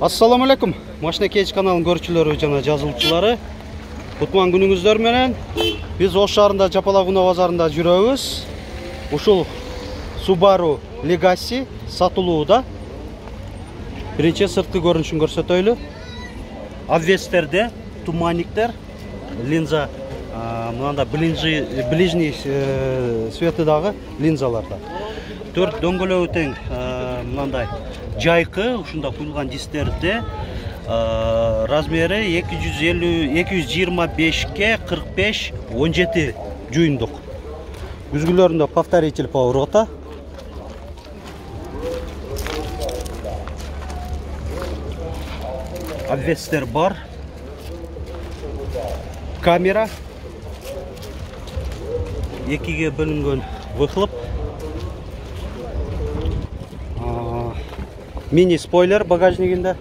Assalamu alaikum. Машина Кейч каналынын көрүүчүлөрү жана жазылуучулары. Кутман күнүңүздөр менен. Биз Ош шаарында Жапалак базарында жүрөбүз. Ушул Subaru Legacy сатылууда. Биринчи сырткы көрүнүшүн көрсөтөйлү. Обвестерде туманниктер, линза мында ближний светидагы линзаларда. 4 дөңгөлөгү тең мындай жайкы ушунда куюлган дистерде размери 225ке 45 17 жуюндук. Күзгүлөрүндө повторитель поворота. Обвестер бар. Камера. Экиге бөлүнгөн выхлоп. Мини спойлер багажнигинде.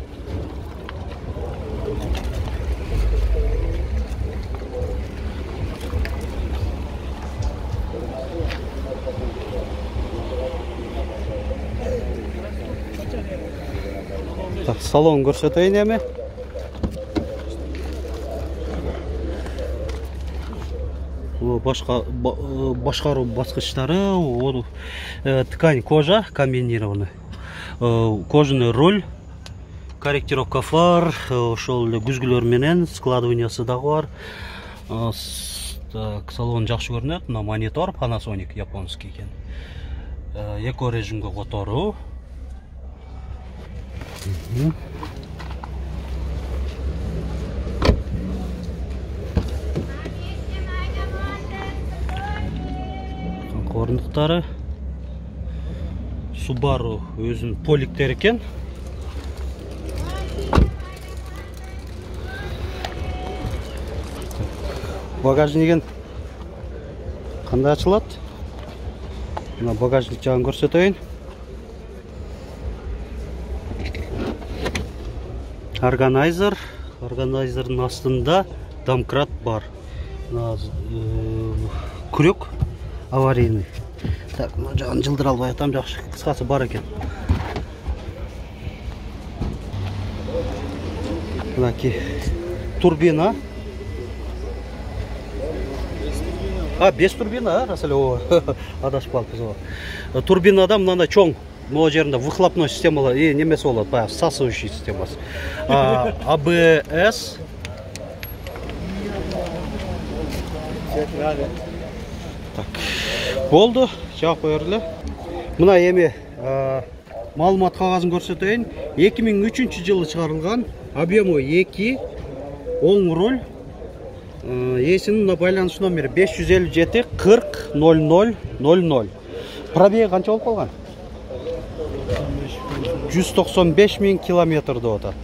Так, салон көрсөтөйүн эми. Башкаруу баскычтары, ткань кожа комбинированный. Кожаный руль, корректировка фар, ошол эле күзгүлөр менен складываниясы дагы бар. Так, салон жакшы көрүнөт. Мына монитор Panasonic японский экен. Эко режимге которуу. Орындыктары. Subaru өзүнүн поликтер экен. Багажнигин кандай ачылат? Мына багажник жагын көрсөтөйүн. Органайзердин астында домкрат бар. Крюк аварийный. Так, мына жагын жылдыра албай атам, жакшы кыскасы бар экен. Мынаки турбина. Без турбина, рас эле, адашып калыппыз. Турбинада мындай чоң, могу жеринде выхлопной системалар, немеси болот, баягы всасывающий системасы. ABS. Так, болду, жаап коёр эле. Мына эми маалымат кагазын көрсөтөйүн. 2003-жылы чыгарылган, объему 2, оң руль. Эсинин байланыш номери 557 40 00 00. Пробеги канча болуп калган? 195 000 километр деп атат.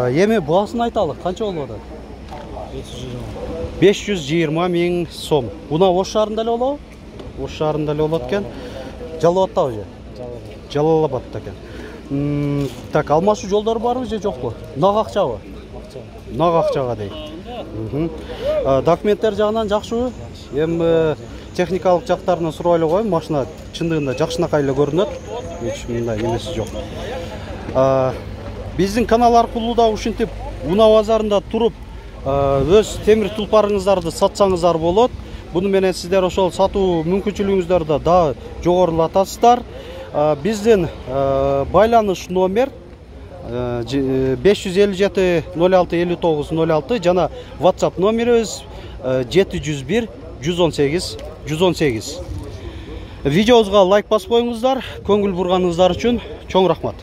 Эми баасын айталы, канча болуп атат? 520 000 сом. Буна Ош шаарында эле болобу? Ош шаарында эле болот экен. Жалал-Абадта же? Жалал-Абадта экен. Так, алмашуу жолдору барбы же жокпу? Нак акчабы? Нак акчага дейт. Документтер жагынан жакшыбы? Эми техникалык жактарынан сурап эле коеюн. Машина чындыгында жакшынакай эле көрүнөт. Эч мындай эмеси жок. Биздин канал аркылуу да ушинтип Уна базарында туруп өз темир тулпарыңыздарды сатсаңыздар болот. Буну менен сиздер ошол сатуу мүмкүнчүлүгүңүздөрдү да жогорулатасыздар. Биздин байланыш номер 557 06 59 06 жана WhatsApp номерибиз 701 118 118. Видеобузга лайк басып коюңуздар. Көңүл бурганыңыздар үчүн чоң рахмат.